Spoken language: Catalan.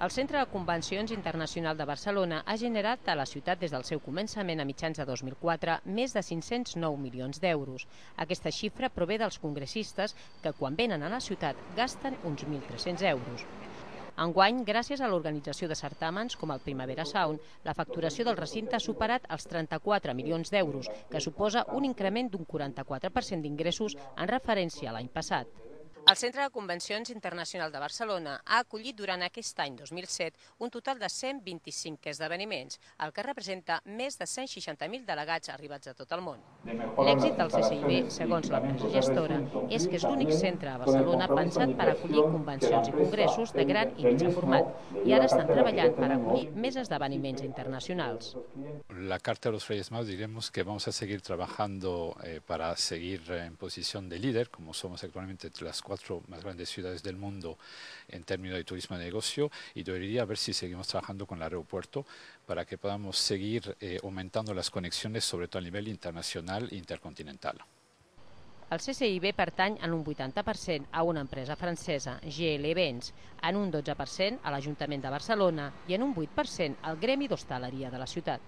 El Centre de Convencions Internacional de Barcelona ha generat a la ciutat des del seu començament a mitjans de 2004 més de 509 milions d'euros. Aquesta xifra prové dels congressistes que quan venen a la ciutat gasten uns 1.300 euros. Enguany, gràcies a l'organització de certàmens com el Primavera Sound, la facturació del recinte ha superat els 34 milions d'euros, que suposa un increment d'un 44% d'ingressos en referència a l'any passat. El Centre de Convencions Internacional de Barcelona ha acollit durant aquest any 2007 un total de 125 esdeveniments, el que representa més de 160.000 delegats arribats a tot el món. L'èxit del CCIB, segons l'empresa gestora, és que és l'únic centre a Barcelona pensat per acollir convencions i congressos de gran i mitjà format, i ara estan treballant per acollir més esdeveniments internacionals. La Carta de los Reyes Magos, diremos que vamos a seguir trabajando para seguir en posición de líder, como somos actualmente entre las 4 más grandes ciudades del mundo en términos de turismo de negocio, y debería ver si seguimos trabajando con el aeropuerto para que podamos seguir aumentando las conexiones, sobre todo a nivel internacional e intercontinental. El CCIB pertany en un 80% a una empresa francesa, GL Events, en un 12% a l'Ajuntament de Barcelona i en un 8% al Gremi d'Hostaleria de la ciutat.